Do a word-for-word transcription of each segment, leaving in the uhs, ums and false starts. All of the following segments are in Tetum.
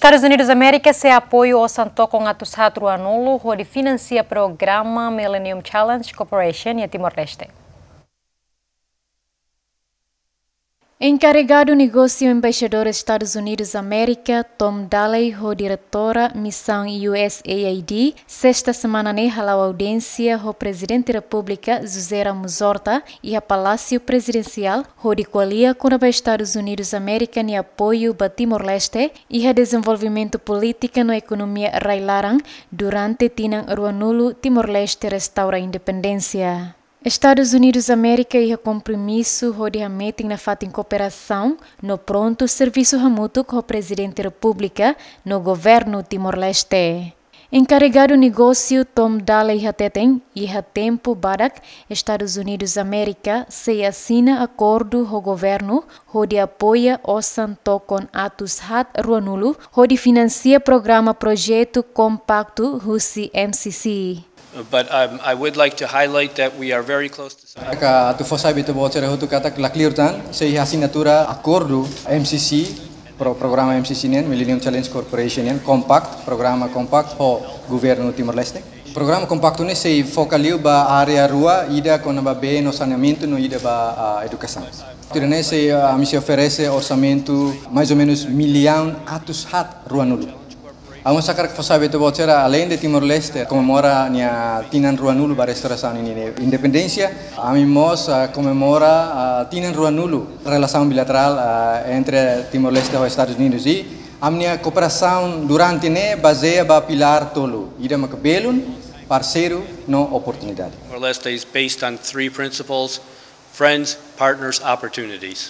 Estadus Unidus Amérika sei apoiu osan tokon atus haat ruanulu hodi finansia programa Millennium Challenge Corporation iha Timor-Leste. Enkarregadu negósiu Embaixadór Estadus Unidus Amérika, Tom Daley, ho diretora Misaun U S A I D, sesta semana ne'e hala'o audiénsia ho Prezidente Repúblika, José Ramos Horta, iha Palásiu Prezidensiál, hodi ko'alia kona-ba Estadus Unidus Amérika nia apoiu ba Timor-Leste iha dezenvolvimentu polítika no ekonomia rai-laran durante tinan ruanulu Timor-Leste restaura independénsia. Estadus Unidus Amérika iha kompromisu hodi hametin nafatin kooperasaun no prontu servisu hamutuk ho Prezidente Repúblika no Governu Timor-Leste. Enkarregadu negósiu Tom Daley hateten, iha tempu badak, Estadus Unidus Amérika sei asina akordu ho governu hodi apoia osan tokon atus haat ruanulu hodi finansia programa projetu kompaktu husi M C C. But, um, I would like to highlight that we are very close to signing. Ka atu fó sai ba ita-boot sira hotu katak la kleur tan, sei asinatura akordu M C C, pro-, programa M C C nian, Millennium Challenge Corporation nian, Compact, programa Compact ho Governu Timor-Leste. Programa Compacto ne'e sei foka liu ba área rua, ida kona-ba bee no saneamentu no ida ba, ah, edukasaun. Tuir ne'e sei, ah, ami sei oferese orsamentu mais ou menus millaun atus haat ruanulu. Ami mós hakarak fó sai ba ita-boot sira, aleinde Timor-Leste komemora nia tinan ruanulu ba restaurasaun nia independénsia, ami mós, ah, komemora, ah, tinan ruanulu relasaun bilaterál, ah, entre Timor-Leste ho Estadus Unidus. I ami-nia kooperasaun durante ne'e bazeia ba pilár tolu, ida maka belun, parseiru no oportunidade. Timor-Leste is based on three principles: friends, partners, opportunities.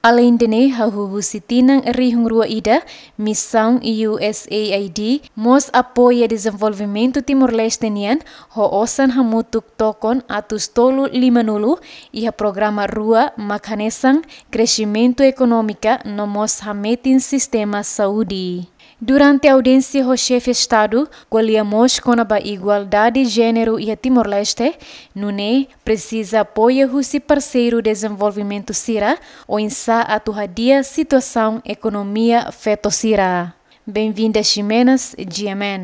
Aleinde ne'e, hahú husi tinan rihun rua ida, Misaun U S A I D mós apoia dezenvolvimentu Timor-Leste nian ho osan hamutuk tokon atus tolu limanulu iha programa rua mak hanesan kresimentu ekonómika no mós hametin sistema saúde. Durante audiénsia ho Xefe Estadu, ko'alia mós kona-ba igualdade jéneru iha Timor-Leste, nune'e presiza apoiu husi parseiru dezenvolvimentu sira, oinsá atu hadi'a situasaun ekonomia feto sira. Benvinda Ximenas, G M N.